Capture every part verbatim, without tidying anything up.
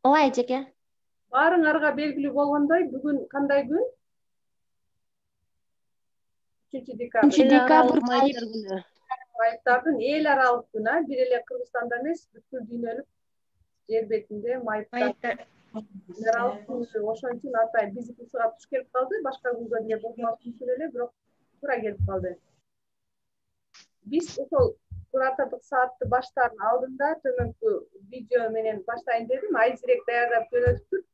Ооба эжеке. Баарыңарга белгилүү болгондой, бүгүн кандай күн? үчүнчү декабрь. үчүнчү декабрь майыптар күнү. Майыптардын эл аралык күнү, бир эле Кыргызстанда эмес, бүткүл дүйнөлүк жер бетинде майыптар эл аралык күнү. Ошон үчүн атай биздикисига туш келип калды, башка күнгө деле болмокчу эле, бирок туура келип калды. Биз ошол куратордук саатты баштаардын алдында төмөнкү видео менен баштайын дедим, айзирек даярдап жөнөтүптүр.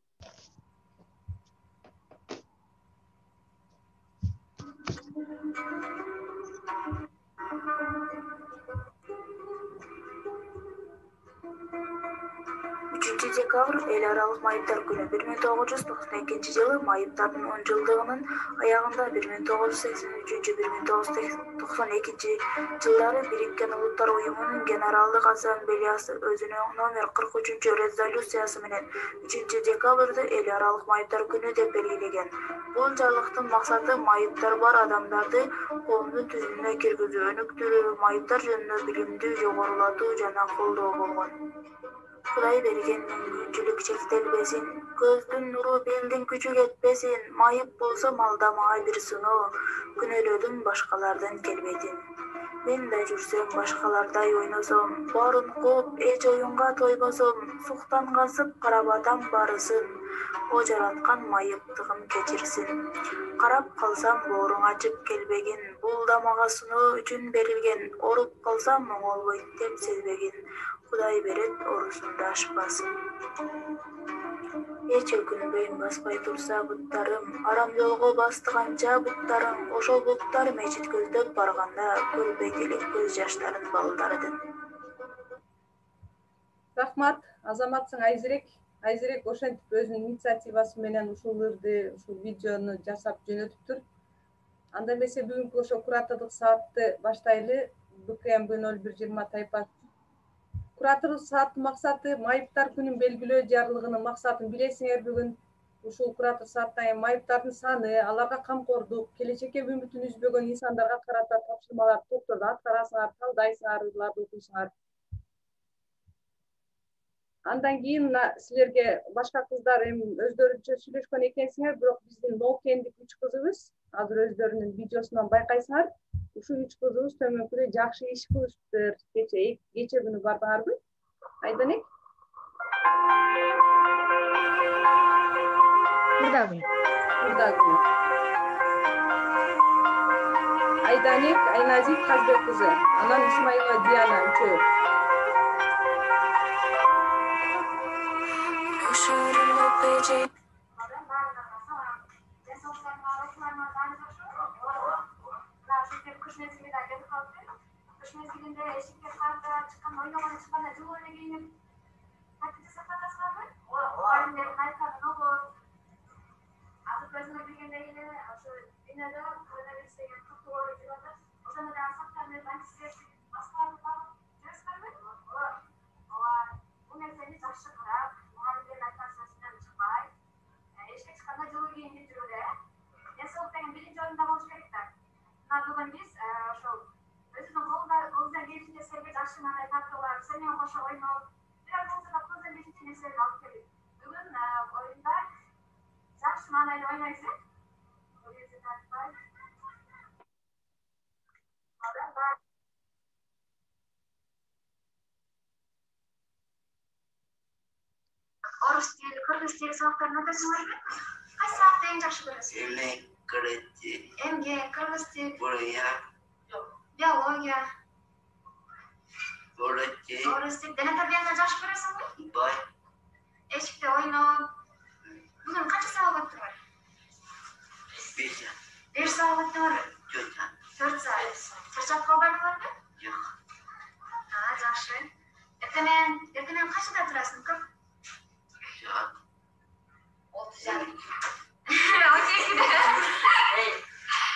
үчүнчү декабрь эл аралык майыптар күнү. бир миң тогуз жүз токсон экинчи жылы майыптардын он жылдыгынын аягында бир миң тогуз жүз сексен үчүнчү бир миң тогуз жүз токсон экинчи жылдары Бириккен Улуттар уюмунун Генералдык Ассамблеясы өзүнүн номер кырк үчүнчү резолюциясы менен үчүнчү декабрды эл аралык майыптар күнү деп белгилеген. Бул жарлыктын максаты майыптар бар адамдарды коомдун түзүмүнө киргизүү, өнүктүрүү, майыптар жөнүндө билимди жогорулатуу жана колдоо болгон. Кудай берген мүмкүнчүлүк чектелбесин, көздүн нуру белдин күчү кетпесин, майып болсо малда мага бир сыноо, күнөөлөдүм башкалардан келбетин. Мен да жүрсөм башкалардай ойносом, баарын кооп эч оюнга тойбосом, суктан касып карап атам барысын, о жараткан майыптыгым кечирсин. Карап калсам бооруң ачып келбегин, бул да мага сыноо үчүн берилген, оруп калсам оңолбойт деп сезбегин. Кудай берет орусунда ашпасын. Эч өкүнбөйм баспай турса буттарым, арам жолго бастыганча буттарың, ошол буттар мечит көздөп барганда көрбөйт элек көз жаштарын балдардын. Рахмат, азаматсың Айзирек. Айзирек ошентип өзүнүн инициативасы менен ушул ырды, ушул видеону жасап жөнөтүптүр. Анда эмесе бүгүнкү ошо куратордук саатты баштайлы. Б К М Б ноль бир жыйырма тайпасы. Куратордук сааттын максаты майыптар күнүн белгилөө жарлыгынын максатын билесиңер бүгүн. Ушул куратор сааттан кийин майыптардын саны, аларга камкордук, келечекке үмүтүн үзбөгөн инсандарга карата тапшырмалар топторду аткарасыңар, талдайсыңар, ырларды окуйсуңар. Андан кийин мына силерге башка кыздар эми өздөрүнчө сүйлөшкөн экенсиңер, бирок биздин ноокендик үч кызыбыз, азыр өздөрүнүн видеосунан байкайсыңар, ушул үч кызыбыз төмөнкүдө жакшы иш кылышыптыр. Кече кече күнү бардыңарбы? Айданек? Мурда күнү. Мурда күнү. Айданек, Айназик Казбек кызы, анан Исмаилова Диана үчөө. Кыш мезгилинде кетип калыптыр. Кыш мезгилинде эшикке карта чыккан, ойногону чыкканда жылуу эле кийинип, кайтып жасап каласыңарбы? Ооба. Кайтканы болот. Азыр өзүңөр билгендей эле ошо дүйнөдө коронавирус деген катуу ооруп жүрүп атат. Ошондо дагы сактар менен антисептик маскаларды тагып жүрөсүңөрбү? Ооба. Ооба. Бул нерсени жакшы карап, мугалимдердин айткан сөзүнөн чыкпай, эшикке чыкканда жылуу кийинип жүрүлө. Ден соолук деген биринчи орунда болуш керек да. Мына бүгүн биз ошол өзүбүздүн колубуздан келишинче силерге жакшы мындай тартуулар, силер менен кошо ойноп, бир аз болсо да колубуздан келишинче нерселерди алып келдик. Бүгүн оюнда жакшы маанайда ойнойбуз, э? Колубузду тартпай. Орус тили, кыргыз тили сабактарын өтөсүңөрбү? Кайсы сабакты эң жакшы көрөсүң? Эмгек, кыргыз тил. Эмгек, кыргыз тил. Бурая. Биология. Орус тил. Орус тил. Дене тарбияны жакшы көрөсүңбү? Бай. Эшикте ойноп. Бүгүн канча сабак өттүңөр? Беш. Беш сабак өттүңөрбү? Төрт. Төрт сабак. Чарчап калбадыңарбы? Жок. А, жакшы. Эртең эртең качада турасың, көп? Жок. отуз жарым. он экиде.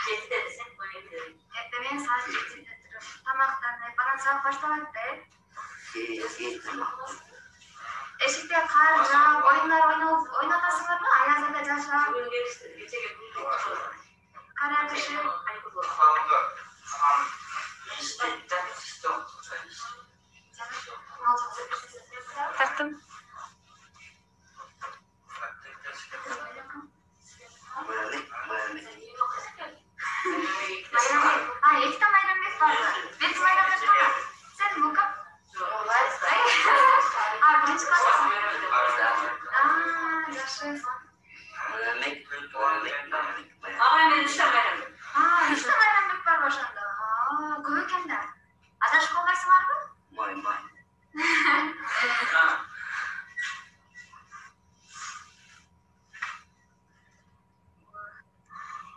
жетиде десек он экиде. Эртең саат жетиде туруп, тамактанып, анан сабак башталат да, э? Эшикте кар жаап, оюндар ойноп, ойнотосуңарбы? Аязда жашап. Кар агышып. Тартым. да. Адашып калбайсыңарбы? Май, май.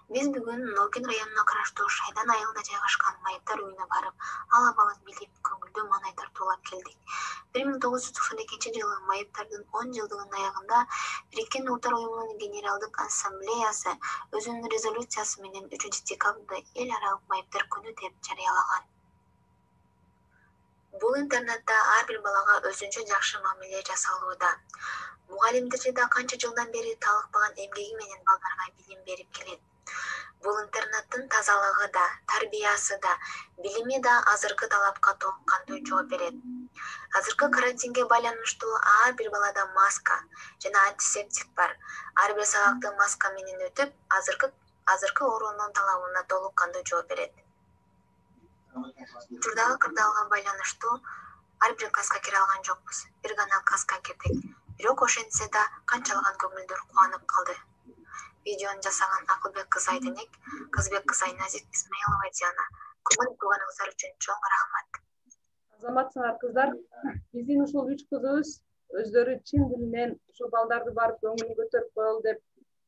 Биз бүгүн Нолкин районуна караштуу Шайдан айылында жайгашкан майыптар үйүнө барып, ал абалын билип, көңүлдүү маанай тартуулап келдик. бир миң тогуз жүз токсон экинчи жылы майыптардын он жылдыгынын аягында Бириккен Улуттар уюмунун Генералдык ассамблеясы өзүнүн резолюциясы менен үчүнчү декабрда эл аралык майыптар күнү деп жарыялаган. Бул интернатта ар бир балага өзүнчө жакшы мамиле жасалууда. Мугалимдери да канча жылдан бери талыкпаган эмгеги менен балдарга билим берип келет. Бул интернаттын тазалыгы да, тарбиясы да, билими да азыркы талапка толук кандуу жооп берет. Азыркы карантинге байланыштуу ар бир балада маска жана антисептик бар. Ар бир сабакты маска менен өтүп, азыркы азыркы оорунун талабына толук кандуу жооп берет. Учурдагы кырдаалга байланыштуу ар бир класска кире алган жокпуз. Бир гана класска кирдик. Бирок ошентсе да канчалаган көңүлдөр кубанып калды. Видеону жасаган Акылбек кызы Айденек, Кызбек кызы Айназик Исмаилова Диана. Көңүл бурганыңыздар үчүн чоң рахмат. Азаматсыңар кыздар, биздин ушул үч кызыбыз өздөрү чын дилинен ушул балдарды барып көңүлүн көтөрүп коелу деп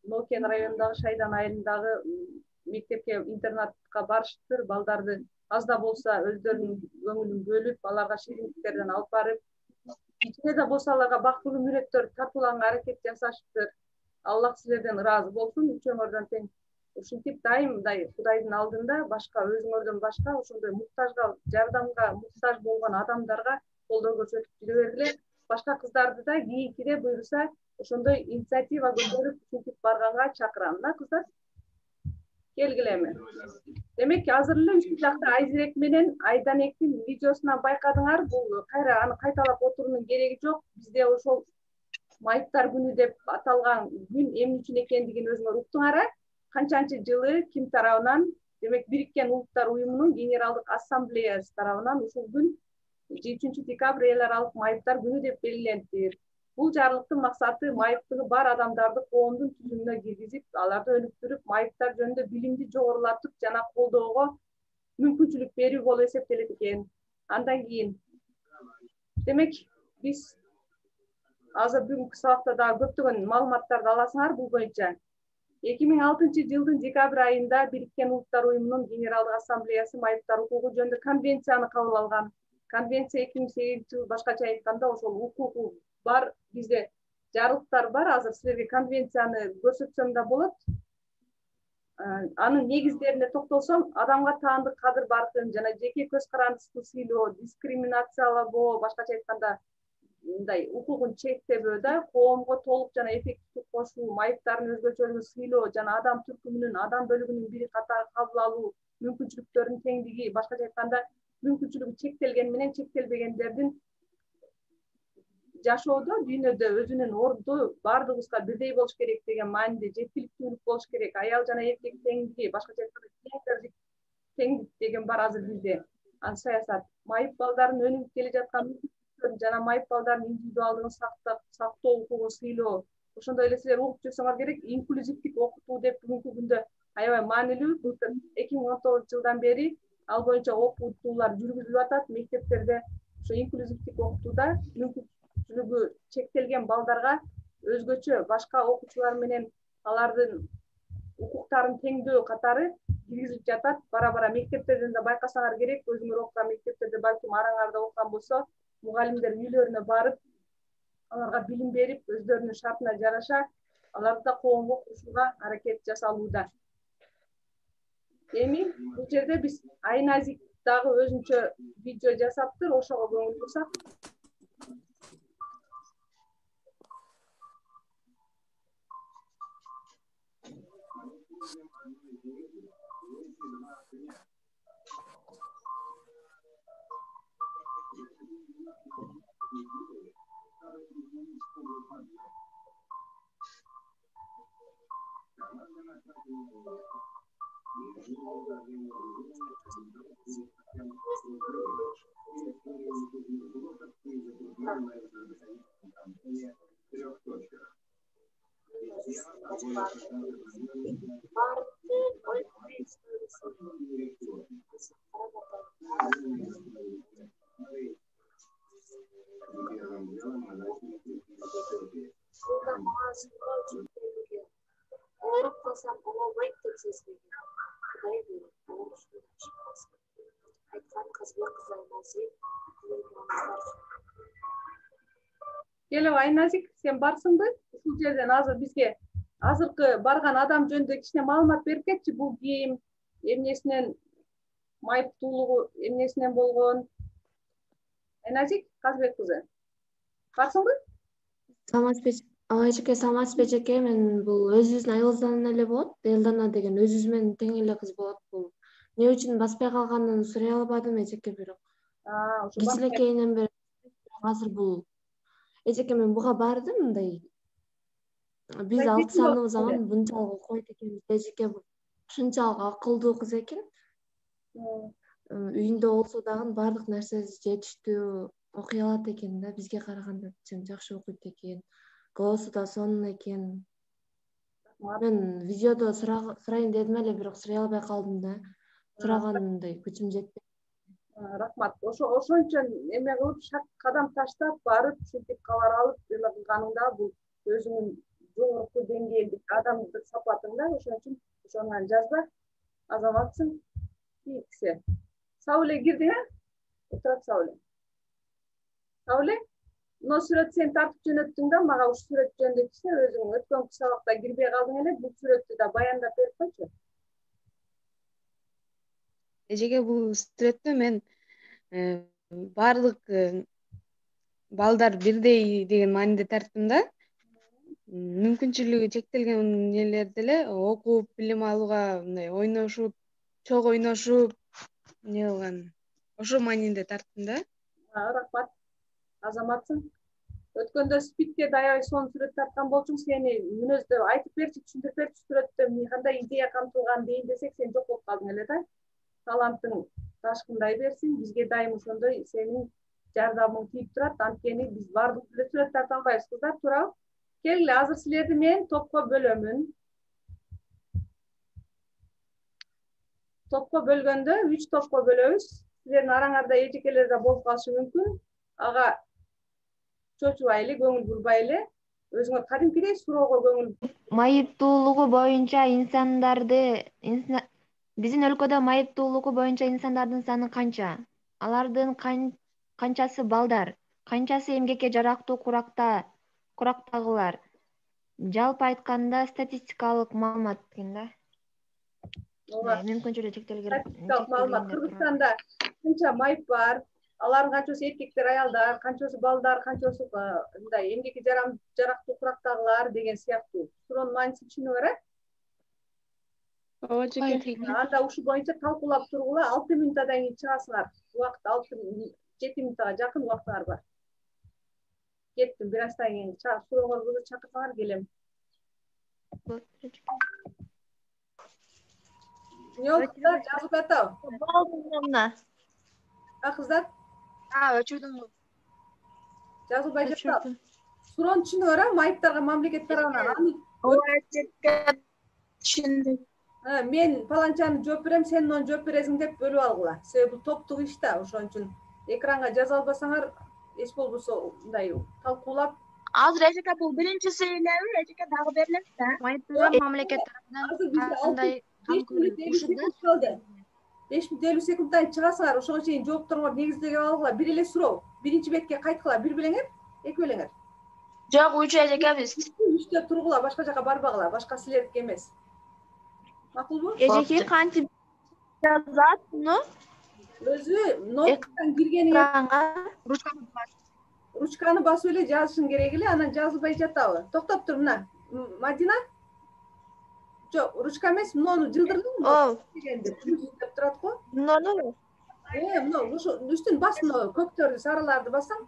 Нолкин районундагы Шайдан айылындагы мектепке интернатка барышыптыр. Балдарды аз да болсо өздөрүнүн көңүлүн бөлүп, аларга шириндиктерден алып барып, кичине да болсо аларга бактылуу мүнөттөр тартуулаганга аракет жасашыптыр. Аллах силерден ыраазы болсун, үчөөңөрдөн тең. Ушинтип дайымдай Кудайдын алдында башка өзүңөрдөн башка ошондой муктажга, жардамга муктаж болгон адамдарга колдоо көрсөтүп жүрө бергиле. Башка кыздарды да кийинкиде буюрса ошондой инициатива көтөрүп ушинтип барганга чакырам. Мына кыздар, келгилеме. Демек, азыр эле үчү жакта Айзирек менен Айданектин видеосунан байкадыңар, бул кайра аны кайталап отуруунун кереги жок. Бизде ошол майыптар күнү деп аталган күн эмне үчүн экендигин өзүңөр уктуңар. Канчанчы жылы ким тарабынан, демек Бириккен Улуттар уюмунун Генералдык ассамблеясы тарабынан ушул күн үчүнчү декабрь эл аралык майыптар күнү деп белгиленди. Бул жарлыктын максаты майыптыгы бар адамдарды коомдун түзүмүнө киргизип, аларды өнүктүрүп, майыптар жөнүндө билимди жогорулатып жана колдоого мүмкүнчүлүк берүү болуп эсептелет экен. Андан кийин демек биз азыр бүгүнкү сабакта дагы көптөгөн маалыматтарды аласыңар бул боюнча. эки миң алтынчы жылдын декабрь айында Бириккен Улуттар уюмунун Генералдык ассамблеясы майыптар укугу жөнүндө конвенцияны кабыл алган. Конвенция эки миң сегизинчи жылы башкача айтканда ошол укугу бар, бизде жарлыктар бар. Азыр силерге конвенцияны көрсөтсөм да болот. Анын негиздерине токтолсом, адамга таандык кадыр баркын жана жеке көз карандысты сыйлоо, дискриминациялабоо, башкача айтканда мындай укугун чектебөө да, коомго толук жана эффективдүү кошуу, майыптардын өзгөчөлүгүн сыйлоо жана адам түркүмүнүн, адам бөлүгүнүн бири катары кабыл алуу, мүмкүнчүлүктөрдүн теңдиги, башкача айтканда мүмкүнчүлүгү чектелген менен чектелбегендердин жашоодо дүйнөдө өзүнүн орду баардыгыбызга бирдей болуш керек деген мааниде жеткиликтүүлүк болуш керек. Аял жана эркек теңдиги, башкача айтканда теңдик деген бар азыр бизде. Ал саясат майып балдардын өнүгүп келе жаткан жана майып балдардын индивидуалдыгын сактоо укугун сыйлоо. Ошондой эле силер угуп жүрсөңөр керек, инклюзивдик окутуу деп бүгүнкү күндө аябай маанилүү. Былтыр эки миң он тогузунчу жылдан бери ал боюнча окутуулар жүргүзүлүп атат мектептерде. Ошо инклюзивдик окутууда мүмкүнчүлүгү чектелген балдарга өзгөчө башка окуучулар менен алардын укуктарын теңдөө катары киргизилип жатат. Бара-бара мектептерден да байкасаңар керек, өзүңөр окуган мектептерде балким араңарда окуган болсо, мугалимдер үйлөрүнө барып, аларга билим берип, өздөрүнүн шартына жараша аларды да коомго кошууга аракет жасалууда. Эми бул жерде биз Айназик дагы өзүнчө видео жасаптыр, ошого көңүл бурсак. Келип Айназик, сен барсыңбы? Ушул жерден азыр бизге азыркы барган адам жөнүндө кичине маалымат берип кетчи. Бул кийим эмнесинен майыптуулугу эмнесинен болгон? Айназик Казбек кызы. Барсыңбы? Саламатсызбы? Айжеке, саламатсызбы эжеке? Мен бул өзүбүздүн айылыбыздан эле болот. Элдана деген өзүбүз менен тең эле кыз болот. Бул эмне үчүн баспай калганын сурай албадым эжеке, бирок. А, ошо Кичинекейинен бери азыр бул эжеке мен буга бардым мындай. Биз алты саныбыз аман мынчалык окуйт экенбиз эжеке, бул ушунчалык акылдуу кыз экен. Үйүндө болсо дагы баардык нерсеси жетиштүү окуй алат экен да, бизге караганда жакшы окуйт экен. Голосу да сонун экен. Мен видеодо сурайын дедим эле, бирок сурай албай калдым да. Сурагандай күчүм жетпedi. Рахмат. Ошо ошончо эме кылып шак кадам таштап барып ушинтип кабар алып эме кылганыңда бул өзүңүн жогорку деңгээлдик адамдык сапатың да, ошон үчүн ошону жазба. Азаматсың. Кийинкиси. Сауле кирдиң, э? Отурат Сауле. Сауле, мына сүрөт сен тартып жөнөттүң да, мага ушул сүрөт жөнүндө кичине өзүң өткөн сабакта кирбей калдың эле, бул сүрөттү да баяндап берип койчу. Эжеке, бул сүрөттө мен баардык балдар бирдей деген мааниде тарттым да. Мүмкүнчүлүгү чектелген элер деле окуп, билим алууга мындай ойношуп, чогуу ойношуп, эмне кылган. Ошол мааниде тарттым да. Рахмат. Азаматсың. Өткөндө спикке аябай сонун сүрөт тарткан болчуң. Сени мүнөздө айтып берчи, түшүндүрүп берчи сүрөттө кандай идея камтылган дейин десек, сен жок болуп калдың эле да. Талантың ташкындай берсин, бизге дайым ошондой сенин жардамың тийип турат. Анткени биз баардык эле сүрөт тарта албайбыз, кыздар, туурабы? Келгиле, азыр силерди мен топко бөлөмүн. Топко бөлгөндө үч топко бөлөбүз. Силердин араңарда эжекелер да болуп калышы мүмкүн. Ага чочубайлы, көңүл бурбайлы. Өзүңөр кадимкидей суроого көңүл. Майыптуулугу боюнча инсандарды биздин өлкөдө майыптуулугу боюнча инсандардын саны канча? Алардын канчасы балдар? Канчасы эмгекке жарактуу куракта курактагылар? Жалпы айтканда статистикалык маалымат экен да. Мүмкүнчүлүгү чектелген. Статистикалык маалымат. Кыргызстанда канча майып бар? Алардын канчасы эркектер, аялдар, канчасы балдар, канчасы мындай эмгекке жарактуу курактагылар деген сыяктуу суроонун мааниси түшүнүңөр, э? Ооба, эжеке. Анда ушул боюнча талкуулап тургула, алты минутадан кийин чыгасыңар. Убакыт алты жети минутага жакын убактыңар бар. Кеттим, бир аздан кийин сурооңорду чакырсаңар келем. Не болду кыздар, жазып атабы? Болду мына. А, кыздар? А, өчүрдүм. Жазылбай жатабы? Суроону түшүнүңөр, а? Майыптарга мамлекет тарабынан. Ооба, эжеке, түшүндүм. Мен паланчаны жооп берем, сен муну жооп бересиң деп бөлүп алгыла. Себеби бул топтук иш да, ошон үчүн экранга жаза албасаңар, эч болбосо мындай талкуулап. Азыр эжеке бул биринчиси элеби, эжеке дагы берилет да. Майыптар мамлекет тарабынан кандай беш мүнөт элүү секунд калды. беш мүнөт элүү секундтан чыгасыңар, ошого чейин жоопторуңор негизделип алгыла. Бир эле суроо, биринчи бетке кайткыла, бир белеңер, эки белеңер. Жок, үч эжеке биз. Үчтө тургула, башка жака барбагыла, башка силердики эмес. Макулбу? Эжеке кантип жазат муну? Өзү ноуттан киргениңер ручканы бас. Ручканы басып эле жазышың керек эле, анан жазылбай жатабы? Токтоп тур, мына. Мадина? Жок, ручка эмес, муну жылдырдыңбы? Ооба. Деп турат го. Муну? Э, муну ушу үстүн бас, муну көктөрдү, сарыларды бассаң.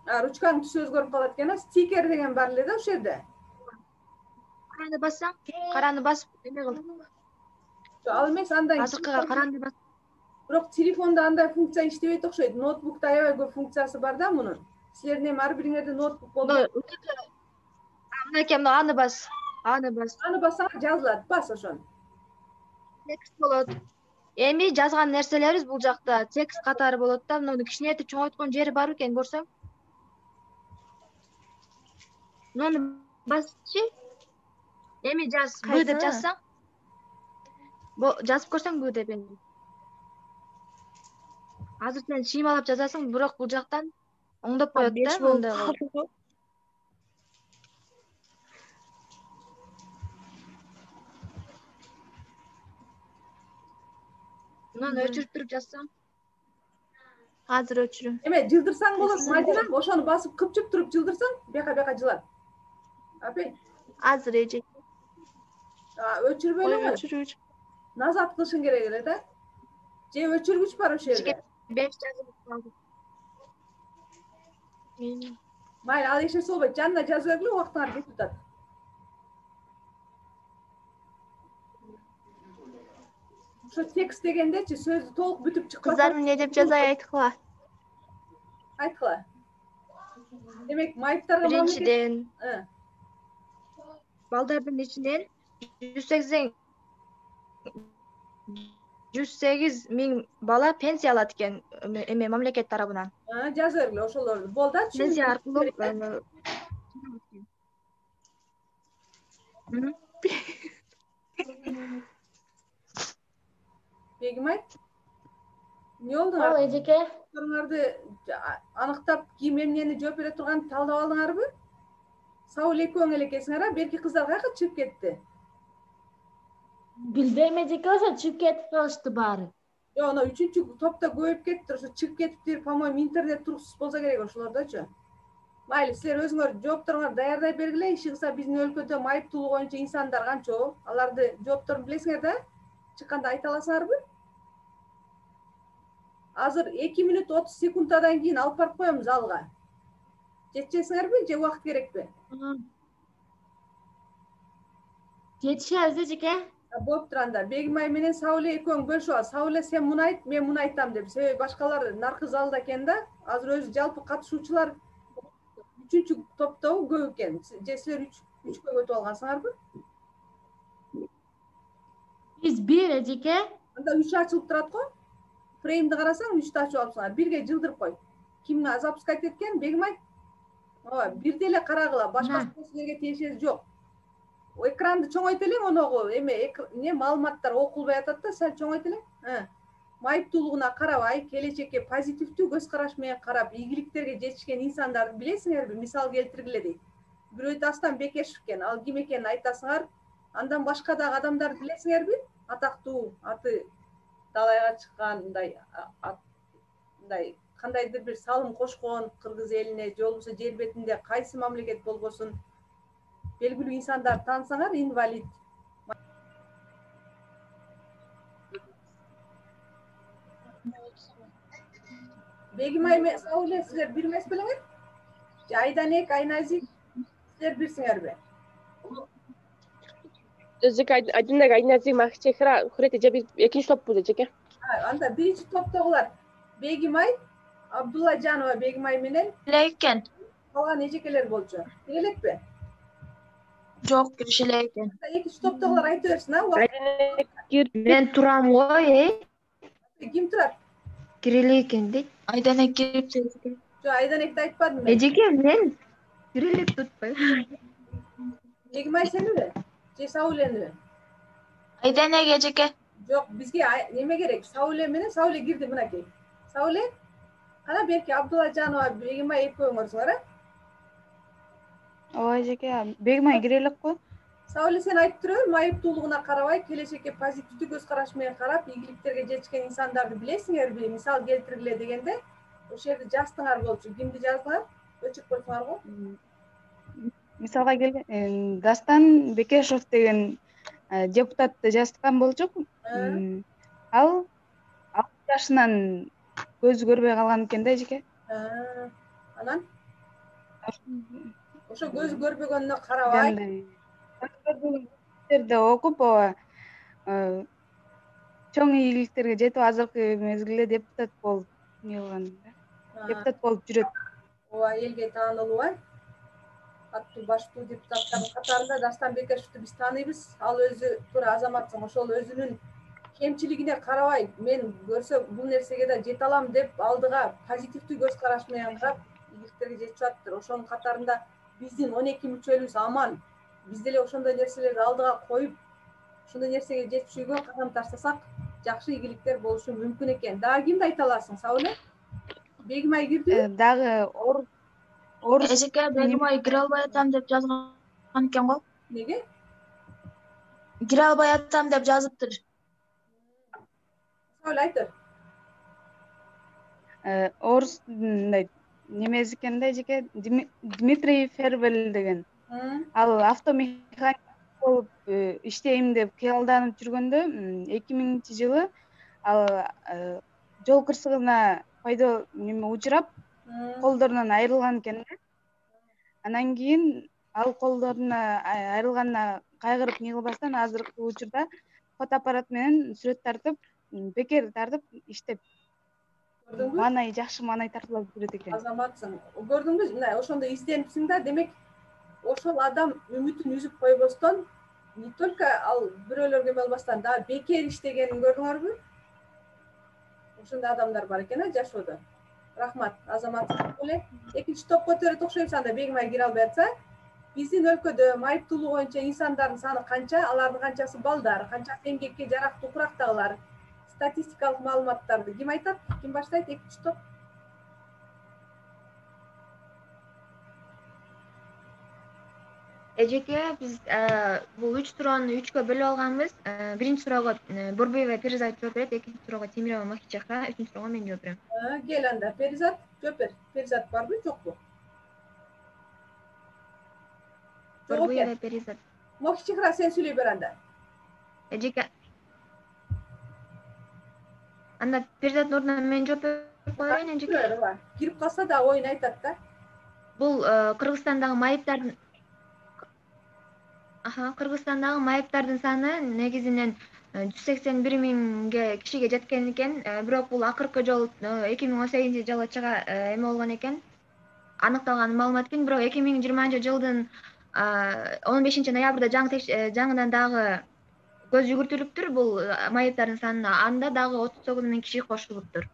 А, ручканын түсү өзгөрүп калат экен, а? Стикер деген бар эле да ошол жерде. Караны бассаң, караны басып эме кыл. Ал эмес, андан азыркыга каранды бас. Бирок телефонда андай функция иштебейт окшойт. Ноутбукта аябай көп функциясы бар да мунун. Силердин эми ар бириңерде ноутбук болду. Мынакей, аны бас. Аны бас. Аны бассаң жазылат, бас ошону. Текст болот. Эми жазган нерселерибиз бул жакта текст катары болот да, муну кичинейтип чоңойткон жери бар экен, көрсөң. Муну басчы. Эми жаз, б деп жазсаң. жазып көрсөңбү деп эле. Азыр сен шыймалап жазасың, бирок бул жактан оңдоп коет да, андай кылып. Мынаны өчүрүп туруп жазсаң. Азыр өчүрөм. Эме жылдырсаң болот, Мадина, ошону басып кыпчып туруп жылдырсаң, бияка бияка жылат. Апей. Азыр эже. Өчүрбөй эле кой. Өчүрүүчү. Назат кылышың керек эле да. Же өчүргүч бар ошол жерде. беш жазып калды. Майли, ал эч нерсе болбойт. Жанына жазып бергиле, убактыңар кетип атат. Ошо текст дегендечи, сөздү толук бүтүп чыкпаса. Кыздар эмне деп жазай айткыла? Айткыла. Демек, майыптарга биринчиден балдардын ичинен жүз сегиз миң бала пенсия алат экен эме мамлекет тарабынан. Жазып бергиле ошолорду. Болду да, түшүндүм. Пенсия аркылуу. Бегимай, эмне болду? Ал эжеке. Соруңарды аныктап, ким эмнени жооп бере турганын талдап алдыңарбы? Сауле экөөң эле экенсиңер, а берки кыздар каяка чыгып кетти? Билбейм эжеке, ошо чыгып кетип калышты баары. Жок, анау үчүнчү топто көбөйүп кетти, ошо чыгып кетиптир, по-моему, интернет туруксуз болсо керек ошолордочу. Майли, силер өзүңөр жоопторуңарды даярдай бергиле, иши кылса биздин өлкөдө майыптуулук боюнча инсандар канча? Аларды жоопторун билесиңер да? Чыкканда айта аласыңарбы? Азыр эки мүнөт отуз секундтан кийин алып барып коебуз залга. Жетишесиңерби же убакыт керекпи? Жетишебиз эжеке. Болуптур анда. Бегимай менен Сауле экөөң бөлүшүп ал. Сауле сен муну айт, мен муну айтам деп. Себеби башкалар наркы залда экен да. Азыр өзү жалпы катышуучулар үчүнчү топтобу көп экен. Же силер үчкө өтүп алгансыңарбы? Биз бир эжеке. Анда үч ачылып турат го. Фреймди карасаң, үчтү ачып алыпсыңар. Бирге жылдырып кой. Ким запускать эткен? Бегимай? Ооба, бирде эле карагыла. Башка силерге тиешеси жок. Экранды чоңойт элең, оногу эме эмне маалыматтар окулбай атат да, сәл чоңойт элең. Майыптуулугуна карабай, келечекке позитивдүү көз караш менен карап, ийгиликтерге жетишкен инсандарды билесиңерби? Мисал келтиргиле дейт. Бирөө Дастан Бекешев экен, ал ким экенин айтасыңар. Андан башка дагы адамдарды билесиңерби? Атактуу, аты далайга чыккан, мындай мындай кандайдыр бир салым кошкон кыргыз элине, же болбосо жер бетинде кайсы мамлекет болбосун белгилүү инсандар таансаңар, инвалид. Бегимай менен Сауле силер бир эмес белеңер? Же Айданек, Айназик силер бирсиңерби? Эжеке, Айданек, Айназик, Махчехра, Хурете же биз экинчи топпуз эжеке. Анда биринчи топтогулар Бегимай, Абдуллажанова Бегимай менен эле экен. Калган эжекелер болчу. Кире элекпи? Жок, кириши эле экен. Экинчи топтогулар айта берсин, а? Айданек кир. Мен турам го, э? Ким турат? Кире эле экен дейт. Айданек кирип эжеке. Жок, Айданекти айтпадым мен. Эжеке, мен кире элек tutпайм. Бегимай сениби? Же Саулениби? Айданек эжеке. Жок, бизге неме керек? Сауле менен Сауле кирди мынакей. Сауле? Кана берки Абдуллажанова Бегимай экөөңөрсүңөр, а? Ооба эжеке, Бегимай кире элек го. Сауле, сен айтып турбу, майыптуулугуна карабай, келечекке позитивдүү көз караш менен карап, ийгиликтерге жетишкен инсандарды билесиңерби? Мисал келтиргиле дегенде, ошол жерде жаздыңар болчу. Кимди жаздыңар? Өчүрүп койсуңар го. Мисалга келген Дастан Бекешев деген депутатты жазган болчук. Ал алты жашынан көзү көрбөй калган экен да эжеке. Анан ошо көзү көрбөгөнүнө карабай, жерде окуп, ооба, чоң ийгиликтерге жетип азыркы мезгилде депутат болуп эмне кылган да. Депутат болуп жүрөт. Ооба, элге таанылуу, а? Аттуу баштуу депутаттардын катарында Дастан Бекешевди биз тааныйбыз. Ал өзү туура азаматсың, ошол өзүнүн кемчилигине карабай, мен көрсө бул нерсеге да жете алам деп алдыга позитивдүү көз караш менен карап, ийгиликтерге жетишип атыптыр. Ошонун катарында биздин он эки мүчөлүбүз аман. Биз деле ошондой нерселерди алдыга коюп, ушундай нерсеге жетишүүгө кадам таштасак жакшы ийгиликтер болушу мүмкүн экен. Дагы кимди айта аласың, Сауле? Бегимай кирдиби? Дагы орус Эжеке Бегимай кире албай атам деп жазган экен го. Неге? Кире албай атам деп жазыптыр. Сауле айтыр. Орус мындай немеси экен да эжеке, Дмитрий Фервель деген. Ал автомеханик болуп иштейм деп кыялданып жүргөндө эки миңинчи жылы ал жол кырсыгына пайда неме учурап, колдорунан айрылган экен да. Анан кийин ал колдоруна айрылганына кайгырып не кылбастан азыркы учурда фотоаппарат менен сүрөт тартып, бекер тартып иштеп. Көрдүңбү? Маанай жакшы маанай тартылып жүрөт экен. Азаматсың. Көрдүңбү? Мына ошондой издениптсиң да, демек ошол адам үмүтүн үзүп койбостон, не только ал бирөөлөргө эме албастан дагы бекер иштегенин көрдүңөрбү? Ошондой адамдар бар экен а жашоодо. Рахмат, азаматсың эле. Экинчи топко өтөрөт окшойбуз анда Бегимай кире албай атса. Биздин өлкөдө майыптуулук боюнча инсандардын саны канча? Алардын канчасы балдар, канчасы эмгекке жарактуу курактагылар? Статистикалык маалыматтарды ким айтат? Ким баштайт экинчи топ? Эжеке биз бул үч суроону үчкө бөлүп алганбыз. Биринчи суроого Борбоева Перизат жооп берет, экинчи суроого Темирова Махичехра, үчүнчү суроого мен жооп берем. Кел анда, Перизат жооп бер. Перизат барбы, жокпу? Борбоева Перизат. Махичехра, сен сүйлөй бер анда. Эжеке. Анда Перизаттын ордуна мен жооп берип коеюн, эжеке. Кирип калса да оюн айтат да. Бул Кыргызстандагы майыптардын Аха, Кыргызстандагы майыптардын саны негизинен жүз сексен бир миңге кишиге жеткен экен. Бирок бул акыркы жолу эки миң он сегизинчи жылы чыга эме болгон экен. Аныкталган маалымат экен, бирок эки миң жыйырманчы жылдын он бешинчи ноябрда жаңыдан дагы көз жүгүртүлүптүр бул майыптардын санына. Анда дагы отуз тогуз миң киши кошулуптур.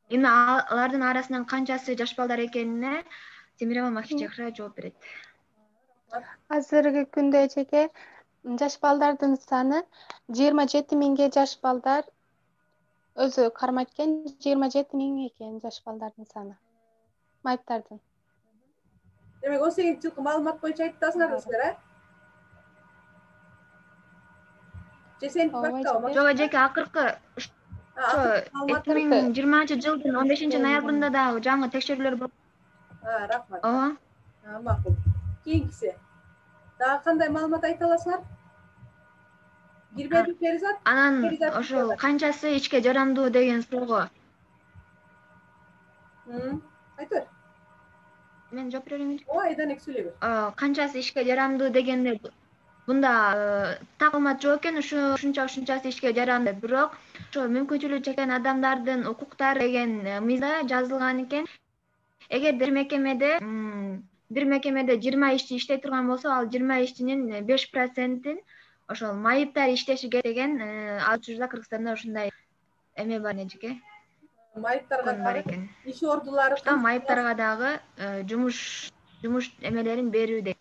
Эми алардын арасынан канчасы жаш балдар экенине Темирова Махичехра жооп берет. Азыркы күндө эжеке жаш балдардын саны жыйырма жети миңге жаш балдар өзү кармайт экен, жыйырма жети миң экен жаш балдардын саны. Майыптардын. Демек он сегизинчи жылкы маалымат боюнча айтасыңарбы силер, а? Же сен бактабы? Жок эжеке, акыркы ошо эки миң жыйырманчы жылдын он бешинчи ноябрында дагы жаңы текшерүүлөр болуп. А, рахмат. Ооба. Макул. Кийинкиси. Дагы кандай маалымат айта аласыңар? Кирбеди Перизат? Анан ошол канчасы ишке жарамдуу деген суроого. Айт бер. Мен жооп берейинби? Ооба, айдан эки сүйлөй бер. Канчасы ишке жарамдуу дегенде бунда так маалымат жок экен, ушунча ушунчасы ишке жарамдуу. Бирок ошо мүмкүнчүлүгү чектелген адамдардын укуктары деген мыйзамда жазылган экен. Эгер бир мекемеде бир мекемеде жыйырма ишчи иштей турган болсо, ал жыйырма ишчинин беш процентин ошол майыптар иштеши керек деген ал учурда Кыргызстанда ушундай эме бар эжеке. Майыптарга дагы иш ордулары, майыптарга дагы жумуш жумуш эмелерин берүү дейт.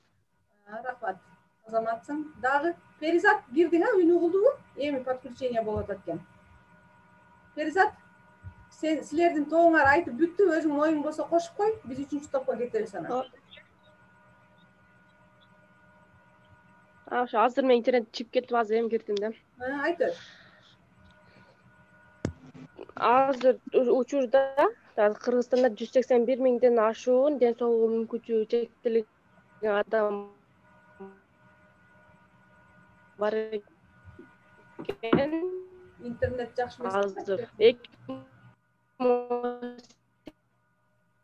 Рахмат. Азаматсың. Дагы Перизат кирдиң, а? Үн угулдубу? Эми подключение болуп атат экен. Перизат, сен силердин тобуңар айтып бүттү, өзүң оюң болсо кошуп кой, биз үчүнчү топко кетебиз анан. Ошо азыр мен интернет чип кетип азыр эми кирдим да. Айт бер. Азыр учурда Кыргызстанда жүз сексен бир миңден ашуун ден соолугу мүмкүнчүлүгү чектелген адам бар экен. Интернет жакшы эмес. Азыр эки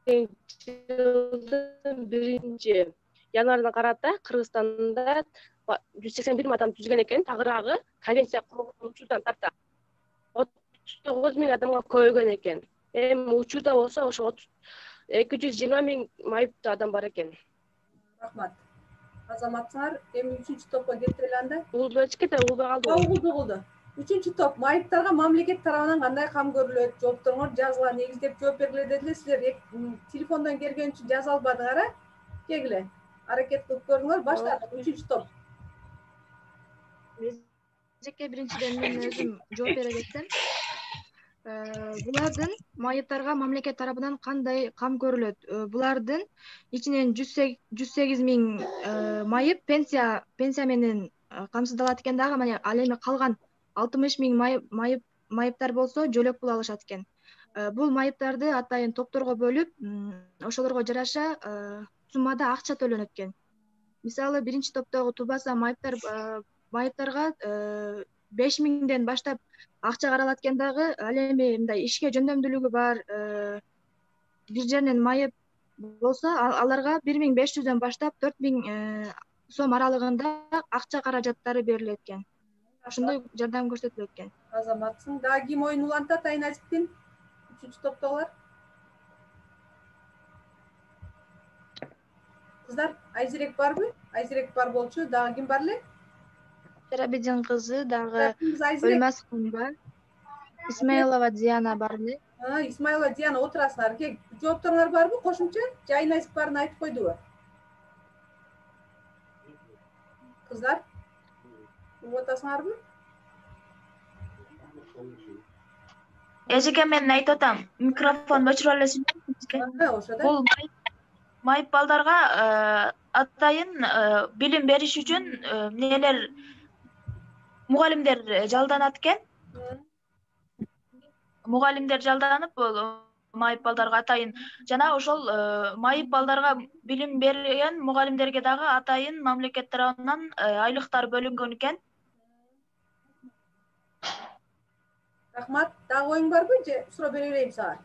миң жылдын биринчи январына карата Кыргызстанда жүз сексен бир миң адам түзүлгөн экен. Тагыраагы конвенция курулган учурдан тарта отуз тогуз миң адамга көбөйгөн экен. Эми учурда болсо ошо эки жүз жыйырма миң майыптуу адам бар экен. Рахмат. Азаматсыңар, эми үчүнчү топко кетели анда. Угулду эчкете, угулбай калды. Угулду, угулду. Үчүнчү топ, майыптарга мамлекет тарабынан кандай кам көрүлөт? Жоопторуңор жазыла негиздеп жооп бергиле дедиле. Силер телефондон келген үчүн жаза албадыңар, а? Кегиле. Аракет кылып көрүңөр. Баштадык, үчүнчү топ. эжеке, биринчиден мен өзүм жооп бере кетсем, булардын майыптарга мамлекет тарабынан кандай кам көрүлөт? Булардын ичинен жүз сегиз миң майып пенсия пенсия менен камсыздалат экен дагы, мына ал эми калган алтымыш миң майып майыптар болсо жөлөк пул алышат экен. Бул майыптарды атайын топторго бөлүп, ошолорго жараша суммада акча төлөнөт экен. Мисалы, биринчи топтогу тубаса майыптар майыптарга беш миңден баштап акча каралат экен дагы, ал эми мындай ишке жөндөмдүүлүгү бар бир жеринен майып болсо, аларга бир миң беш жүздөн баштап төрт миң сом аралыгында акча каражаттары берилет экен. Ошондой жардам көрсөтүлөт экен. Азаматсың. Дагы ким оюн улантат Айназиптин? Үчүнчү топтогулар. Кыздар, Айзирек барбы? Айзирек бар болчу. Дагы ким бар эле? Терабидин кызы, дагы Өлмаскунба, Исмаилова Диана бар эле. Исмаилова Диана, отурасыңар. Кек, жоопторуңар барбы кошумча? Же Айназип барын айтып койдубу? Кыздар, угуп атасыңарбы? Эжеке, мен айтып атам. Микрофон өчүрүп аласызбы? Бул майып балдарга атайын билим бериш үчүн эмнелер мугалимдер жалданат экен. Мугалимдер жалданып, майып балдарга атайын жана ошол майып балдарга билим берген мугалимдерге дагы атайын мамлекет тарабынан айлыктар бөлүнгөн экен. Рахмат. Дагы оюң барбы же суроо бере берейин сага?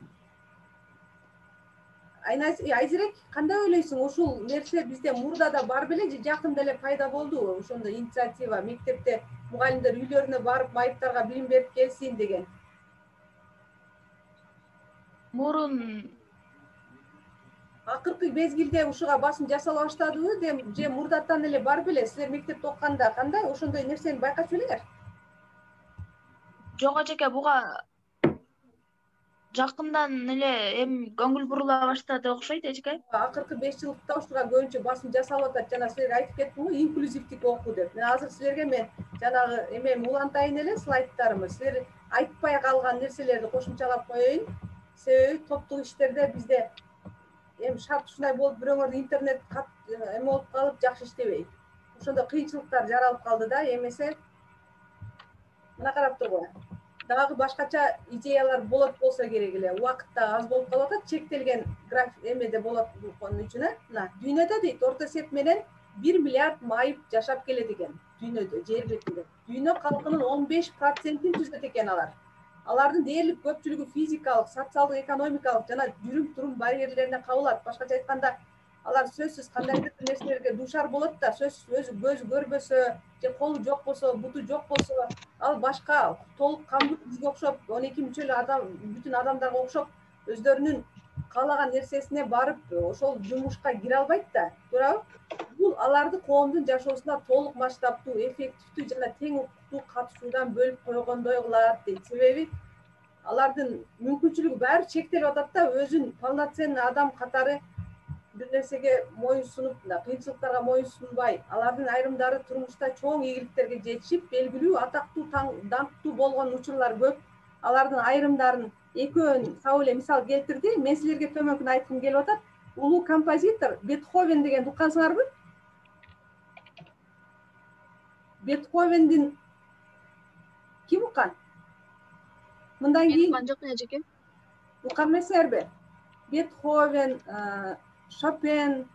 Айзирек, кандай ойлойсуң? Ушул нерсе бизде мурда да бар беле же жакында эле пайда болдубу? Ошондой инициатива, мектепте мугалимдер үйлөрүнө барып майыптарга билим берип келсин деген. Мурун акыркы мезгилде ушуга басым жасала баштадыбы же мурдатан эле бар беле? Силер мектепте окуганда кандай ошондой нерсени байкачу белеңер? Жок эжеке, буга жакындан эле эми көңүл бурула баштады окшойт эжеке. Акыркы беш жылдыкта ушуга көбүнчө басым жасалып атат. Жана силерге айтып кеттим го, инклюзивдик окуу деп. Мен азыр силерге мен жанагы эмеми улантайын эле, слайдтарымы. Силер айтпай калган нерселерди кошумчалап коеюн. Себеби топтук иштерде бизде эми шарт ушундай болуп, бирөөңөрдүн интернет эме болуп калып, жакшы иштебейт. Ошондо кыйынчылыктар жаралып калды да, эмесе мына карап тургула. Дагы башкача идеялар болот болсо керек эле. Убакыт да аз болуп калып атат, чектелген график эмеде болот бул үчүн, э? Мына дүйнөдө дейт, орто эсеп менен бир миллиард майып жашап келет экен дүйнөдө, жер бетинде. Дүйнө калкынын он беш процентин түзөт экен алар. Алардын дээрлик көпчүлүгү физикалык, социалдык, экономикалык жана жүрүм-турум барьерлерине кабылат. Башкача айтканда, алар сөзсүз кандайдыр бир нерселерге дуушар болот да, сөзсүз өзү көзү көрбөсө, же колу жок болсо, буту жок болсо, ал башка толук кандуу бизге окшоп, он эки мүчөлүү адам, бүтүн адамдарга окшоп, өздөрүнүн каалаган нерсесине барып, ошол жумушка кире албайт да, туурабы? Бул аларды коомдун жашоосуна толук масштабтуу, эффективдүү жана тең укуктуу катышуудан бөлүп койгондой кылат дейт. Себеби алардын мүмкүнчүлүгү баары чектелип атат да, өзүн полноценный адам катары бир нерсеге моюнсунуп, кыйынчылыктарга моюнсунбай, алардын айрымдары турмушта чоң ийгиликтерге жетишип, белгилүү, атактуу, даңктуу болгон учурлар көп. Алардын айрымдарын экөөнү сау эле мисал келтирди. Мен силерге төмөнкүнү айткым келип атат. Улуу композитор Бетховен деген уккансыңарбы? Бетховендин ким уккан? Мындан кийин уккан жокмун эжеке. Уккан эмессиңерби? Бетховен, Шопен,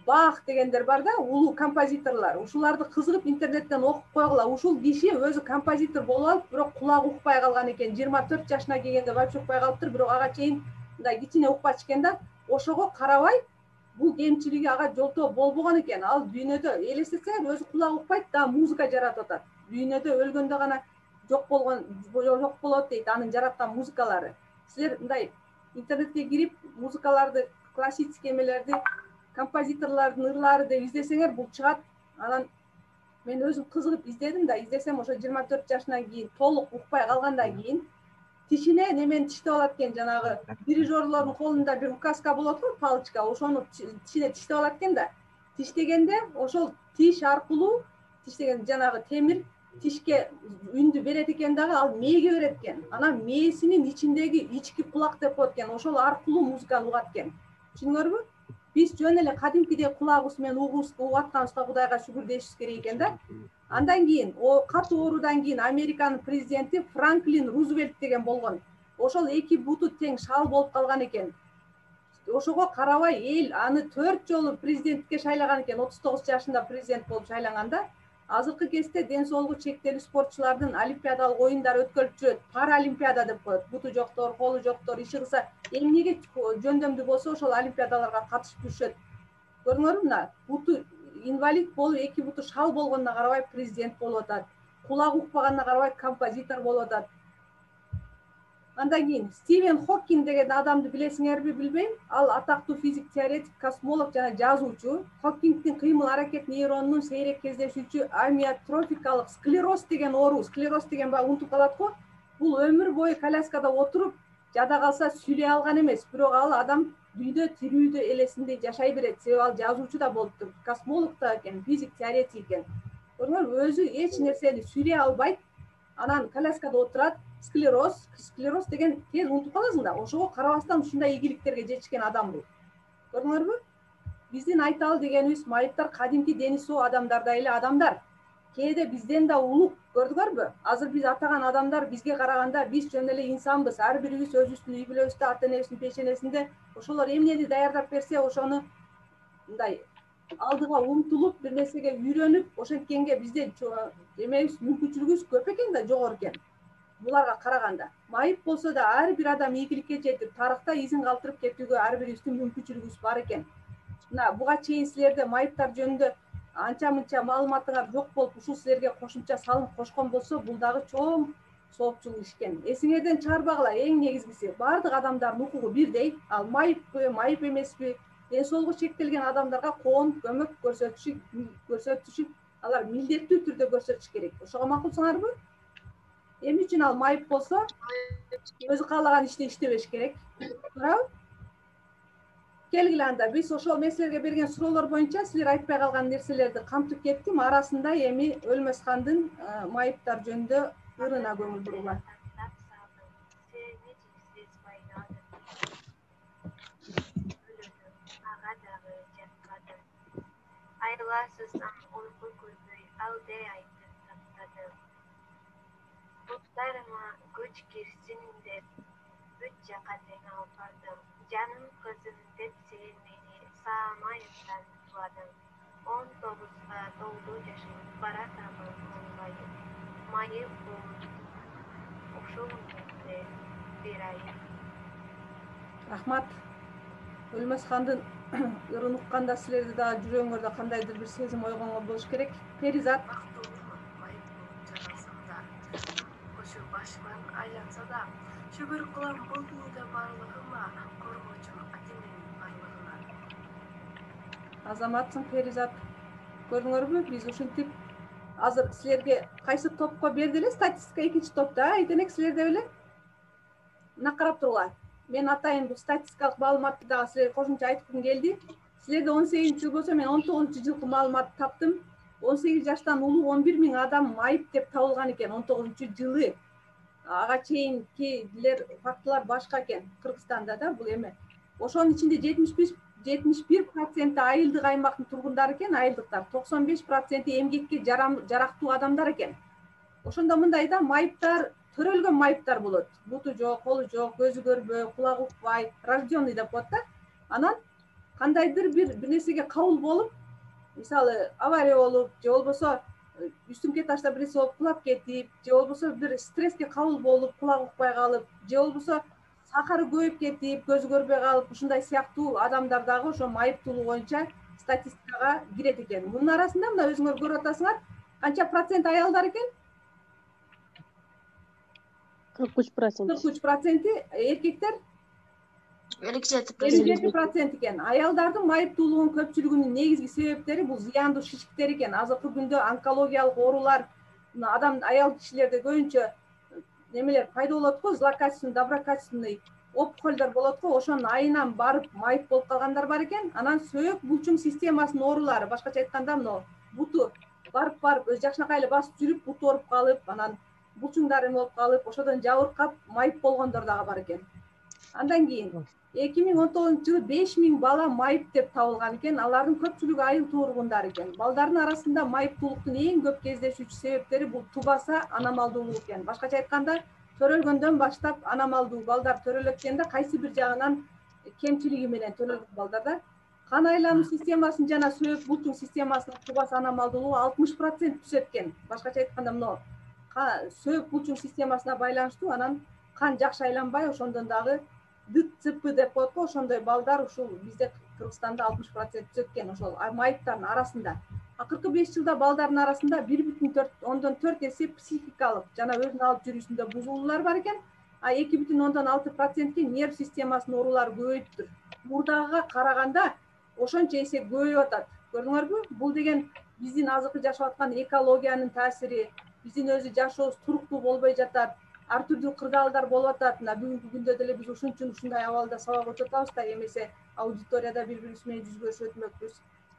Бах дегендер бар да, улуу композиторлор. Ушуларды кызыгып интернеттен окуп койгула. Ушул киши өзү композитор болуп алып, бирок кулагы укпай калган экен. жыйырма төрт жашына келгенде вообще укпай калыптыр, бирок ага чейин мындай кичине укпачу экен да. Ошого карабай, бул кемчилиги ага жолтоо болбогон экен. Ал дүйнөдө элестетсеңер, өзү кулагы укпайт да, музыка жаратып атат. Дүйнөдө өлгөндө гана жок болгон, жок болот дейт анын жараткан музыкалары. Силер мындай интернетке кирип, музыкаларды, классический эмелерди, композиторлордун ырлары деп издесеңер, бул чыгат. Анан мен өзүм кызыгып издедим да, издесем ошо жыйырма төрт жашынан кийин толук укпай калгандан кийин тишине немени тиштеп алат экен, жанагы дирижерлордун колунда бир указка болот го, палочка, ошону тишине тиштеп алат экен да. Тиштегенде ошол тиш аркылуу, тиштеген жанагы темир тишке үндү берет экен дагы, ал мээге берет экен. Анан мээсинин ичиндеги ички кулак деп коет экен. Ошол аркылуу музыканы угат экен. Түшүндүңөрбү? Биз жөн эле кадимкидей кулагыбыз менен угатканыбызга Кудайга шүгүр дейишибиз керек экен да. Андан кийин, о катуу оорудан кийин Американын президенти Франклин Рузвельт деген болгон. Ошол эки буту тең шал болуп калган экен. Ошого карабай эл аны төрт жолу президенттикке шайлаган экен. отуз тогуз жашында президент болуп шайланганда. Азыркы кезде ден соолугу чектелүү спортчулардын олимпиадалык оюндары өткөрүлүп жүрөт. Паралимпиада деп коет. Буту жоктор, колу жоктор иши кылса, эмнеге жөндөмдүү болсо ошол олимпиадаларга катышып жүрүшөт. Көрдүңөрбү мына? Буту инвалид болуп, эки буту шал болгонуна карабай президент болуп атат. Кулагы укпаганына карабай композитор болуп атат. Андан кийин Стивен Хокинг деген адамды билесиңерби, билбейм. Ал атактуу физик теоретик, космолог жана жазуучу. Хокингдин кыймыл аракет нейронунун сейрек кездешүүчү амиотрофикалык склероз деген оору, склероз деген баягы унутуп калат го. Бул өмүр бою коляскада отуруп, жада калса сүйлөй алган эмес, бирок ал адам дүйдө тирүүдө элесинде жашай берет. Себеби ал жазуучу да болуптур, космолог да экен, физик теоретик экен. Көрдүңөрбү, өзү эч нерсени сүйлөй албайт. Анан коляскада отурат. Склероз, склероз деген тез унутуп каласың да. Ошого карабастан ушундай ийгиликтерге жетишкен адам бул. Көрдүңөрбү? Биздин айталы дегенибиз майыптар кадимки дени соо адамдардай эле адамдар. Кээде бизден да улук, көрдүңөрбү? Азыр биз атаган адамдар бизге караганда биз жөн эле инсанбыз. Ар бирибиз өзүбүздүн үй бүлөбүздө, ата энебиздин пешенесинде ошолор эмнени даярдап берсе, ошону мындай алдыга умтулуп, бир нерсеге үйрөнүп, ошенткенге бизде эмебиз, мүмкүнчүлүгүбүз көп экен да, жогору экен. Буларга караганда майып болсо да ар бир адам ийгиликке жетип, тарыхта изин калтырып кетүүгө ар бирибиздин мүмкүнчүлүгүбүз бар экен. Мына буга чейин силерде майыптар жөнүндө анча-мынча маалыматыңар жок болуп, ушул силерге кошумча салым кошкон болсо, бул дагы чоң соопчулук иш экен. Эсиңерден чыгарбагыла, эң негизгиси баардык адамдардын укугу бирдей. Ал майыппы, майып эмеспи, ден соолугу чектелген адамдарга коомдук көмөк көрсөтүшү көрсөтүшү алар милдеттүү түрдө көрсөтүш керек. Ошого макулсуңарбы? Эмне үчүн ал майып болсо, өзү каалаган ишти иштебеш керек. Туурабы? Келгиле анда, биз ошол мен силерге берген суроолор боюнча силер айтпай калган нерселерди камтып кеттим. Арасында эми Өлмөсхандын майыптар жөнүндө ырына көңүл бурула. Айласыздан уйку көрбөй, алдай айтып таптадым. Буттарыма күч кирсин деп, бүт жака тең алып бардым. Жаным кызым деп сен мени саамайымдан туладың. Он тогузга толду жашым, баратамын улгайып. Майып болуп, ошол менде бир айып. Рахмат. Өлмөсхандын ырын укканда силерде дагы жүрөгүңөрдө кандайдыр бир сезим ойгонгон болуш керек. Перизат. Башыман айланса да, шүгүр кылам бул дүйнөдө барлыгыма, коргоочум атеңдин барлыгына. Азаматсың Перизат. Көрдүңөрбү, биз ушинтип азыр силерге кайсы топко берди эле статистика экинчи топто, айтенек силерде беле? Мына карап тургула. Мен атайын бул статистикалык маалыматты дагы силерге кошумча айткым келди. Силерде он сегизинчи жыл болсо, мен он тогузунчу жылкы маалыматты таптым. он сегиз жаштан улуу он бир миң адам майып деп табылган экен он тогузунчу жылы. Ага чейинкилер фактылар башка экен. Кыргызстанда да бул эме. Ошонун ичинде жетимиш бир проценти айылдык аймактын тургундары экен, айылдыктар. токсон беш проценти эмгекке жарактуу адамдар экен. Ошондо мындай да, майыптар төрөлгөн майыптар болот. Буту жок, колу жок, көзү көрбөй, кулагы укпай, рожденный деп коет да. Анан кандайдыр бир бир нерсеге кабыл болуп, мисалы авария болуп, же болбосо үстүңкү этажда бир нерсе болуп кулап кетип, же болбосо бир стресске кабыл болуп, кулагы укпай калып, же болбосо сахары көбөйүп кетип, көзү көрбөй калып, ушундай сыяктуу адамдар дагы ошо майыптуулук боюнча статистикага кирет экен. Мунун арасында мына өзүңөр көрүп атасыңар, канча процент аялдар экен? кырк үч процент. кырк үч проценти эркектер? элүү жети процент экен. Аялдардын майыптуулугунун көпчүлүгүнүн негизги себептери бул зыяндуу шишиктер экен. Азыркы күндө онкологиялык оорулар, адам аял кишилерде көбүнчө немелер пайда болот го, злокачественный, доброкачественный опухольдор болот го, ошонун айынан барып майып болуп калгандар бар экен. Анан сөөк булчуң системасынын оорулары, башкача айтканда, мына буту барып барып өз жакшынакай эле басып жүрүп буту ооруп калып, анан булчуңдары эме болуп калып, ошодон жабыркап майып болгондор дагы бар экен. Андан кийин эки миң он тогузунчу жылы беш миң бала майып деп табылган экен. Алардын көпчүлүгү айыл тууругундар экен. Балдардын арасында майыптуулуктун эң көп кездешүүчү себептери бул тубаса аномалдуулук экен. Башкача айтканда, төрөлгөндөн баштап аномалдуу балдар төрөлөт экен да, кайсы бир жагынан кемчилиги менен төрөлгөн балдарда кан айлануу системасынын жана сөөк булчуң системасынын тубаса аномалдуулугу алтымыш процент түшөт экен. Башкача айтканда, мына сөөк булчуң системасына байланыштуу, анан кан жакшы айланбай, ошондон дагы ДЦП деп коет го, ошондой балдар ушул бизде Кыргызстанда алтымыш процент түшөт экен ошол майыптардын арасында. Акыркы беш жылда балдардын арасында бир бүтүн ондон төрт эсе психикалык жана өзүн алып жүрүүсүндө бузулуулар бар экен, а эки бүтүн ондон алты процентке нерв системасынын оорулары көбөйүптүр. Мурдагыга караганда ошончо эсе көбөйүп атат. Көрдүңөрбү? Бул деген биздин азыркы жашап аткан экологиянын таасири, биздин өзү жашообуз туруктуу болбой жатат, ар түрдүү кырдаалдар болуп атат. Мына бүгүнкү күндө деле биз ушун үчүн ушундай абалда сабак өтүп атабыз да, эмесе аудиторияда бири-бирибиз менен жүз көрүшүп өтмөкпүз.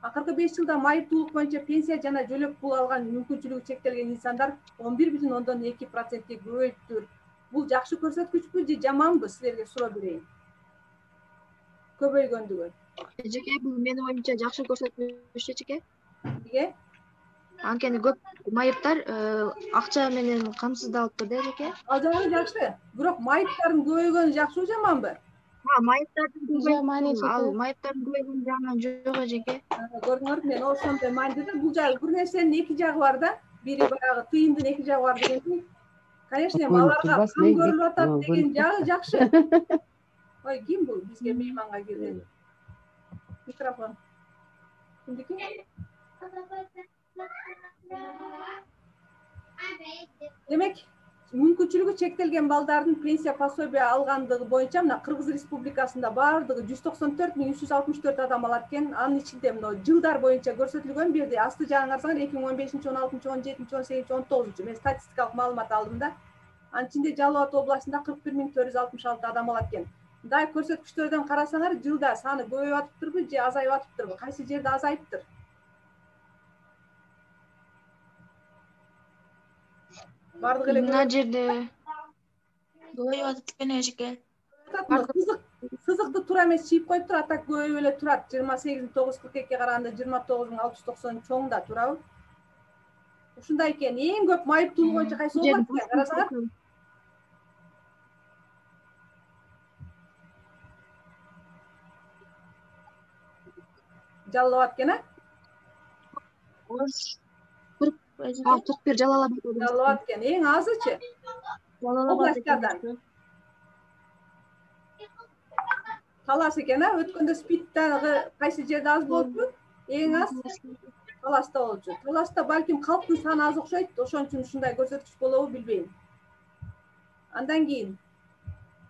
Акыркы беш жылда майыптуулук боюнча пенсия жана жөлөк пул алган мүмкүнчүлүгү чектелген инсандар он бир бүтүн ондон эки процентке көбөйүптүр. Бул жакшы көрсөткүчпү же жаманбы, силерге суроо берейин. Көбөйгөндүгү. Эжеке, бул менин оюмча жакшы көрсөткүч эжеке. Эмнеге? Анткени көп майыптар акча менен камсыздалыптыр да эжеке. Ал жагы жакшы. Бирок майыптардын көбөйгөнү жакшыбы жаманбы? Ha, майыптардын жаман эжеке. Ал майыптардын көбөйгөнү жагынан жок эжеке. Көрдүңөр, мен ошондой маанидеде бул жагы бир нерсенин эки жагы бар да. Бири баягы тыйындын эки жагы бар дегенсиң. Конечно, аларга кан көрүлүп атат деген жагы жакшы. Ой, ким бул бизге мейманга келген? Микрофон. Кимдики? Демек, мүмкүнчүлүгү чектелген балдардын пенсия пособие алгандыгы боюнча мына Кыргыз Республикасында баардыгы жүз токсон төрт миң үч жүз алтымыш төрт адам алат экен. Анын ичинде мына жылдар боюнча көрсөтүлгөн, бир жерде асты жагын карасаңар эки миң он бешинчи, он алтынчы, он жетинчи, он сегизинчи, он тогузунчу мен статистикалык маалымат алдым да. Анын ичинде Жалал Абад областында кырк бир миң төрт жүз алтымыш алты адам алат экен. Мындай көрсөткүчтөрдөн карасаңар, жылда саны көбөйүп атыптырбы же азайып атыптырбы? Кайсы жерде азайыптыр? Бардык эле мына жерде көбөйүп атат экен эжеке. Сызык сызыкты туура эмес чийип коюптур, а так көбөйүп эле турат. жыйырма сегиз миң тогуз жүз кырк экиге караганда жыйырма тогуз миң алты жүз токсон чоң да, туурабы? Ушундай экен. Эң көп майыптуулук боюнча кайсы област экен? Карасаңар. Жалал Абад экен, а? кырк бир Жалал Абад. Жалал Абад экен. Эң азычы? Областтардан. Талас экен, а? Өткөндө спид дагы кайсы жерде аз болчу? Эң аз Таласта болчу. Таласта балким калктын саны аз окшойт, ошон үчүн ушундай көрсөткүч болобу билбейм. Андан кийин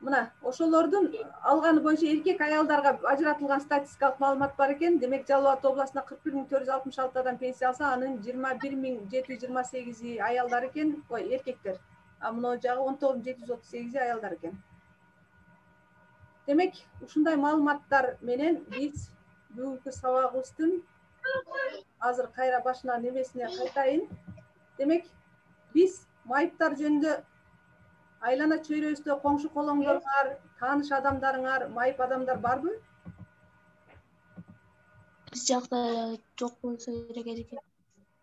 мына ошолордун алганы боюнча эркек аялдарга ажыратылган статистикалык маалымат бар экен. Демек, Жалал Абад областында кырк бир миң төрт жүз алтымыш алты адам пенсия алса, анын жыйырма бир миң жети жүз жыйырма сегизи аялдар экен, ой, эркектер. А мына жагы он тогуз миң жети жүз отуз сегизи аялдар экен. Демек, ушундай маалыматтар менен биз бүгүнкү сабагыбыздын азыр кайра башынан эмесине кайтайын. Демек, биз майыптар жөнүндө айлана чөйрөбүздө коңшу колоңдоруңар, тааныш адамдарыңар, майып адамдар барбы? Биз жакта жок болсо керек эжеке.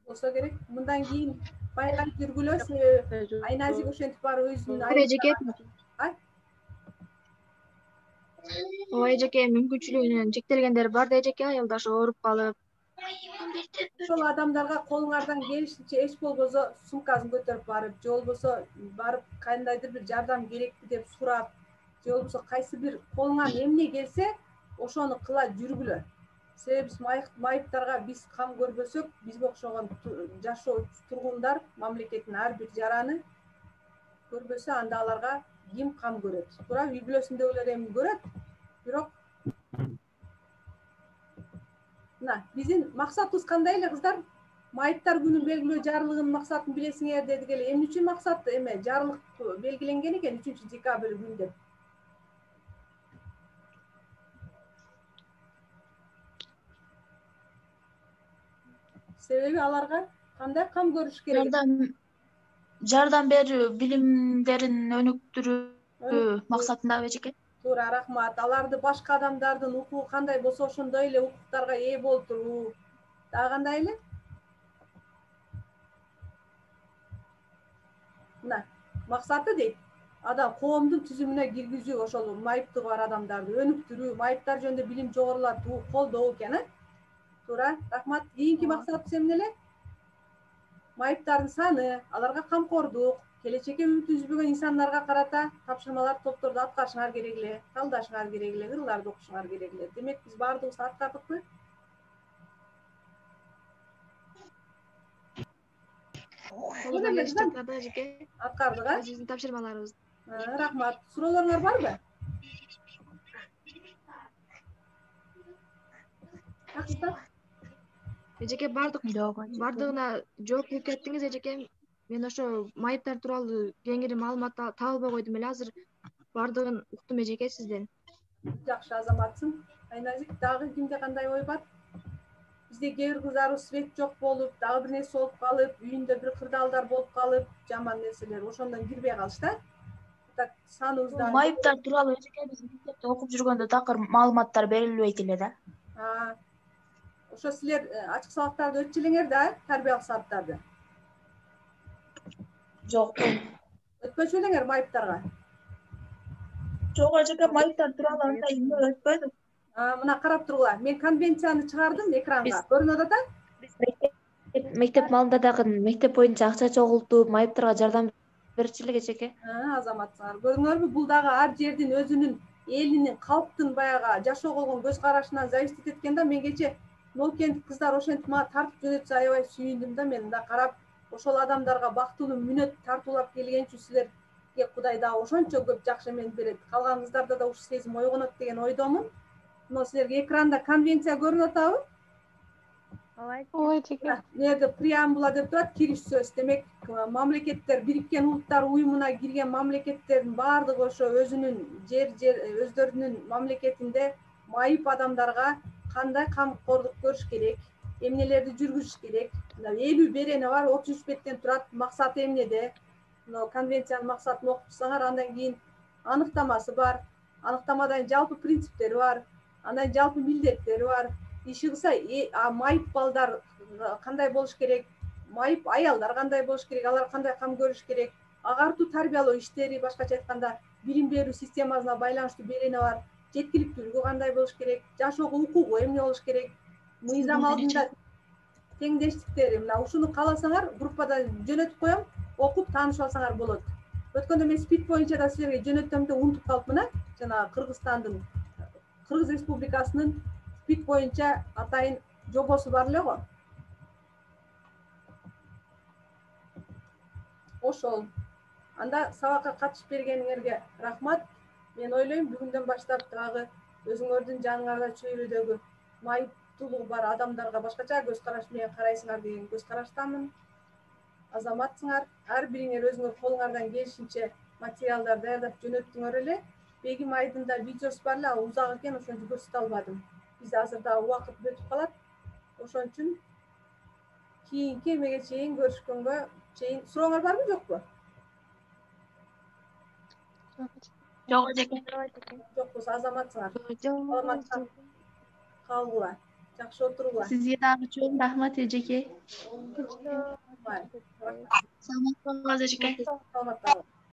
Болсо керек. Мындан кийин байкап жүргүлө, себеби Айназик ошентип барып өзүнүн эжеке. Ой, эжеке, мүмкүнчүлүгүнөн чектелгендер бар да эжеке, аялдар ооруп калып. Ошол адамдарга колуңардан келишинче эч болбосо сумкасын көтөрүп барып, же болбосо барып кандайдыр бир жардам керекпи деп сурап, же болбосо кайсы бир колуңан эмне келсе, ошону кыла жүргүлө. Себеби биз майыптарга биз кам көрбөсөк, бизге окшогон жашоо тургундар мамлекеттин ар бир жараны көрбөсө, анда аларга ким кам көрөт? Туура үй бүлөсүндөгүлөр эми көрөт, бирок мына биздин максатыбыз кандай эле кыздар? Майыптар күнүн белгилөө жарлыгынын максатын билесиңер дедик эле. Эмне үчүн максат эме жарлык белгиленген экен үчүнчү декабрь күнү деп? Себеби аларга кандай кам көрүш керек? Жардам жардам берүү билимдерин өнүктүрүү максатындабы эжеке? Туура, рахмат. Аларды башка адамдардын укугу кандай болсо ошондой эле укуктарга ээ болтуруу. Дагы кандай эле? Мына, максаты дейт. Адам коомдун түзүмүнө киргизүү, ошол майыптыгы бар адамдарды өнүктүрүү, майыптар жөнүндө билим жогорулатуу, колдоо экен, э? Туура, рахмат. Кийинки максатыбыз эмне эле? Майыптардын саны, аларга камкордук, келечекке үмүт үзбөгөн инсандарга карата тапшырмалар, топторду аткарышыңар керек эле, талдашыңар керек эле, ырларды окушуңар керек эле. Демек, биз баардыгыбыз аткардыкпы? Аткардык, а? Биздин тапшырмаларыбыз. Рахмат. Суроолоруңар барбы? Акча. Эжеке бардык бардыгына жооп берип кеттиңиз эжеке. Мен ошо майыптар тууралуу кеңири маалымат табылбай койдум эле, азыр бардыгын уктум эжеке сизден. Жакшы азаматсың. Айназик, дагы кимде кандай ой бар? Бизде кээ бир кыздарыбыз свет жок болуп, дагы бир нерсе болуп калып, үйүндө бир кырдаалдар болуп калып, жаман нерселер ошондон кирбей калышты. Так, саныбызда Майыптар тууралуу эжеке биз мектепте окуп жүргөндө такыр маалыматтар берилбейт эле да. Ошо силер ачык сабактарды өтчү элеңер да, тарбиялык сабактарды? Жок. Өтпөчү элеңер майыптарга? Жок эжеке, майыптар тууралуу андай эмне өтпөдүк. Мына карап тургула. Мен конвенцияны чыгардым экранга. Көрүнөт ата? Мектеп малында дагы мектеп боюнча акча чогултуп, майыптарга жардам берчү элек эжеке. Азаматсыңар. Көрдүңөрбү? Бул дагы ар жердин өзүнүн элинин, калктын баягы жашоого болгон көз карашынан зависит эткен да. Мен кече Нолкент кыздар ошентип мага тартып жөнөтсө аябай сүйүндүм да. Мен да карап, ошол адамдарга бактылуу мүнөт тартуулап келген үчүн силерге Кудай дагы ошончо көп жакшы эмени берет. Калган кыздарда да ушул сезим ойгонот деген ойдомун. Мына силерге экранда конвенция көрүнүп атабы? Ооба эжеке. Мына преамбула деп турат, кириш сөз. Демек, мамлекеттер, Бириккен Улуттар уюмуна кирген мамлекеттердин баардыгы ошо өзүнүн жер жер өздөрүнүн мамлекетинде майып адамдарга кандай камкордук көрүш керек, эмнелерди жүргүзүш керек. Элүү берени бар, отуз үч беттен турат. Максаты эмнеде? Мына конвенциянын максатын окуп чыксаңар, андан кийин аныктамасы бар. Аныктамадан жалпы принциптери бар. Андан жалпы милдеттери бар. Иши кылса, майып балдар кандай болуш керек, майып аялдар кандай болуш керек, алар кандай кам көрүш керек, агартуу тарбиялоо иштери, башкача айтканда, билим берүү системасына байланыштуу берени бар. Жеткиликтүүлүгү кандай болуш керек, жашоого укугу эмне болуш керек, мыйзам алдында теңдештиктери. Мына ушуну кааласаңар, группада жөнөтүп коем, окуп таанышып алсаңар болот. Өткөндө мен спид боюнча да силерге жөнөттүм да унутуп калыпмын, э? Жана Кыргызстандын, Кыргыз Республикасынын спид боюнча атайын жобосу бар эле го. Ошол. Анда сабакка катышып бергениңерге рахмат. Мен ойлойм, бүгүндөн баштап дагы өзүңөрдүн жаныңарда чөйрөдөгү майыптуулугу бар адамдарга башкача көз караш менен карайсыңар деген көз караштамын. Азаматсыңар, ар бириңер өзүңөр колуңардан келишинче материалдар даярдап жөнөттүңөр эле. Бегим айдында видеосу бар эле, ал узак экен, ошентип көрсөтө албадым. Бизде азыр дагы убакыт өтүп калат. Ошон үчүн кийинки эмеге чейин көрүшкөнгө чейин сурооңор барбы, жокпу? Жок эжеке. Жок болсо азаматсыңар. Саламатта калгыла. Жакшы отургула. Сизге дагы чоң рахмат эжеке. Саламат болуңуз эжеке. Саламатта.